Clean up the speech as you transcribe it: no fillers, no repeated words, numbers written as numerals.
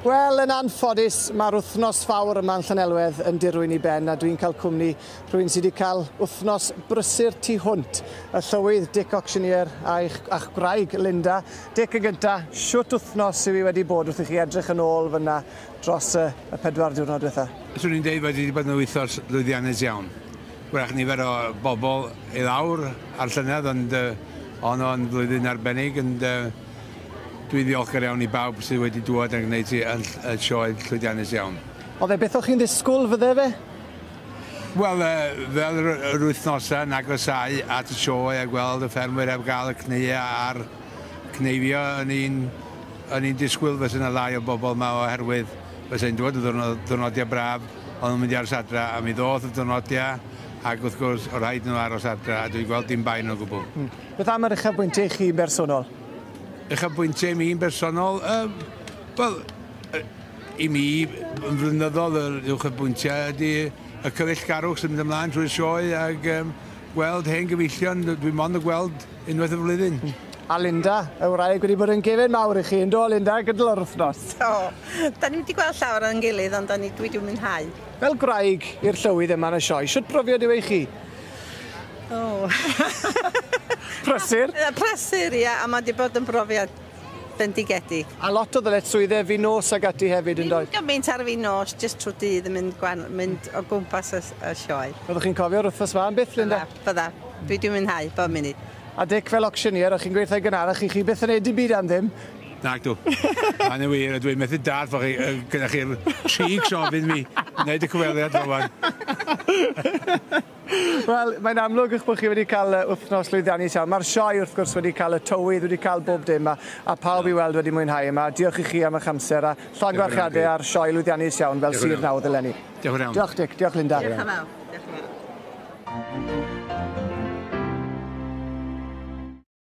Wel, yn anffodus, mae'r wythnos fawr yma yn Llanelwedd yn dirwyn i ben, a dwi'n cael cwmni rhywun sydd wedi cael wythnos brysur tu hwnt, y llywydd Dick Auctioneer a'ch gwraig Linda. Dick yn gynta, shwt wythnos yw hi wedi bod wrth i chi edrych yn ôl fyna dros y 4 diwrnod diwetha? Swn i'n deud bod wedi bod yn wythnos lwyddiannus iawn. Wrach nifer o bobl i lawr ar llynedd, ond o'n o'n flwyddyn arbennig, ond dwi'n ddiolchgar iawn i bawb sydd wedi dŵad yn gwneud hi yn sioe llwyddiannus iawn. Oedd e beth o'ch chi'n ddisgwyl, fydde fe? Wel, fel yr wythnosau yn agosáu at y sioe a gweld y ffermwyr heb gael y cneua a'r cneifio, o'n i'n disgwyl fysa yna lai o bobl yma oherwydd fysa hi'n dod y diwrnodiau braf, ond nhw'n mynd i aros adra, a mi ddoth y diwrnodiau, ac wrth gwrs, o rhaid nhw aros adra, a dwi'n gweld dim bai nhw o gwbl. Beth am yr uchafbwyntiau chi bersonol? Uchafbwyntiau i mi'n bersonol, wel, i mi, yn flynyddol, yr uchafbwyntiau ydy y cyfeillgarwch sy'n mynd ymlaen trwy'r sioe ac gweld hen gyfeillion, dwi mond yn gweld unwaith y flwyddyn. A Linda, y wraig wedi bod yn gefen mawr i chi, yn do Linda, gydol yr wythnos? Do, da ni wedi gweld llawer o'n gilydd, ond dwi wedi mwynhau. Fel gwraig i'r llywydd yma yn y sioe, shwt brofiad yw e i chi? O. Prysur? Prysur, ia, a mae wedi bod yn brofiad bendigedig. A lot o ddyletswyddau fi nos ag ati hefyd, yn doedd? Ddim gymaint ar fi nos, jyst trwy dydd yn mynd o gwmpas y sioe. Byddwch chi'n cofio'r wythnos yma am byth, Linda? Bydda, dwi wedi mwynhau bob munud. A Dick, fel auctioneer, o'ch chi'n gweithio gynharach i chi byth yn neud dim byd am ddim? Nag dw. Mae'n wir, a dwi'n methu dallt fo chi, gyda chi'r trigs ofyn mi wneud y cyfweliad fel wan. Wel, mae'n amlwg eich bod chi wedi cael wythnos llwyddiannus iawn. Mae'r sioe, wrth gwrs, wedi cael y tywydd, wedi cael bob dim, a pawb i weld wedi mwynhau yma. Diolch i chi am eich amser, a llongyfarchiadau ar sioe lwyddiannus iawn fel sir nawdd eleni. Diolch yn iawn. Diolch, Dick. Diolch, Linda. Diolch yn fawr.